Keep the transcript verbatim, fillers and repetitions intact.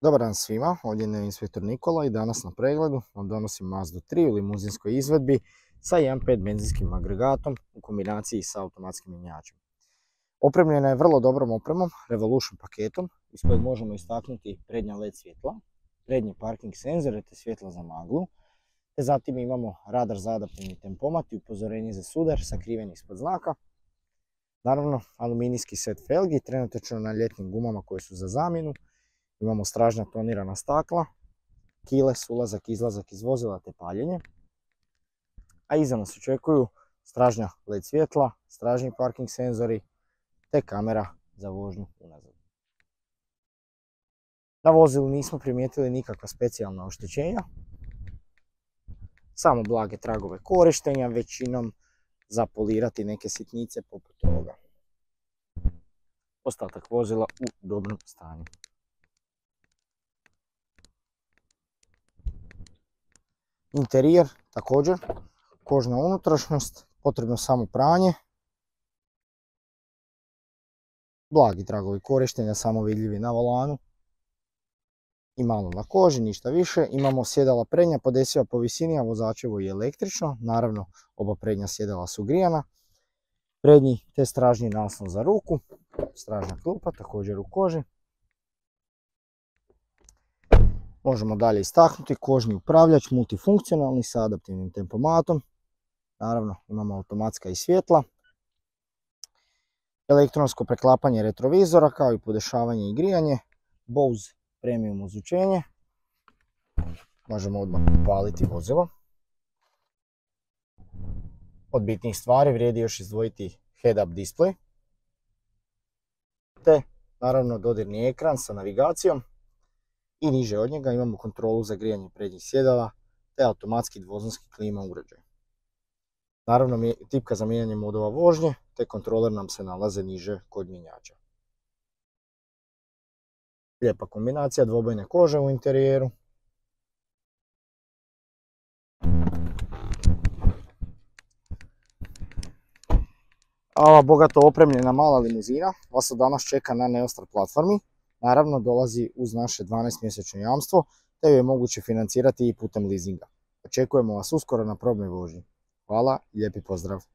Dobar dan svima, ovdje je inspektor Nikola i danas na pregledu vam donosim Mazdu tri u limuzinskoj izvedbi sa jedan pet benzinskim agregatom u kombinaciji sa automatskim mjenjačem. Opremljena je vrlo dobrom opremom, Revolution paketom, iz kojeg možemo istaknuti prednja L E D svjetla, prednje parking senzore te svjetla za maglu, te zatim imamo radar za adaptivni tempomat i upozorenje za sudar sakriven ispod znaka. Naravno, aluminijski set felgi, trenutačno na ljetnim gumama koje su za zamjenu. Imamo stražnja tonirana stakla, keyless ulazak, izlazak iz vozila te paljenje. A iza nas očekuju stražnja L E D svjetla, stražni parking senzori te kamera za vožnju unazad. Na vozilu nismo primijetili nikakva specijalna oštećenja, samo blage tragove korištenja, većinom za polirati neke sitnice poput toga. Ostatak vozila u dobrom stanju. Interijer također, kožna unutrašnjost, potrebno samo pranje. Blagi tragovi korištenja, samo vidljivi na volanu. I malo na koži, ništa više. Imamo sjedala prednja, podesiva po visini, a vozačevo i električno. Naravno, oba prednja sjedala su grijana. Prednji te stražnji naslon za ruku. Stražna klupa, također u koži. Možemo dalje istaknuti kožni upravljač, multifunkcionalni sa adaptivnim tempomatom. Naravno, imamo automatska i svjetla. Elektronsko preklapanje retrovizora kao i podešavanje i grijanje. Bose premium ozvučenje. Možemo odmah upaliti vozilo. Od bitnih stvari vrijedi još izdvojiti head-up display. Te, naravno, dodirni ekran sa navigacijom. I niže od njega imamo kontrolu za grijanje prednjih sjedala te automatski dvozonski klima uređaj. Naravno, tipka za mijenjanje modova vožnje te kontroler nam se nalaze niže kod mjenjača. Lijepa kombinacija dvobojne kože u interijeru. A ova bogato opremljena mala limuzina vas od danas čeka na Neostar platformi. Naravno, dolazi uz naše dvanaest mjesečno jamstvo, te ju je moguće financirati i putem leasinga. Očekujemo vas uskoro na probnoj vožnji. Hvala i lijepi pozdrav!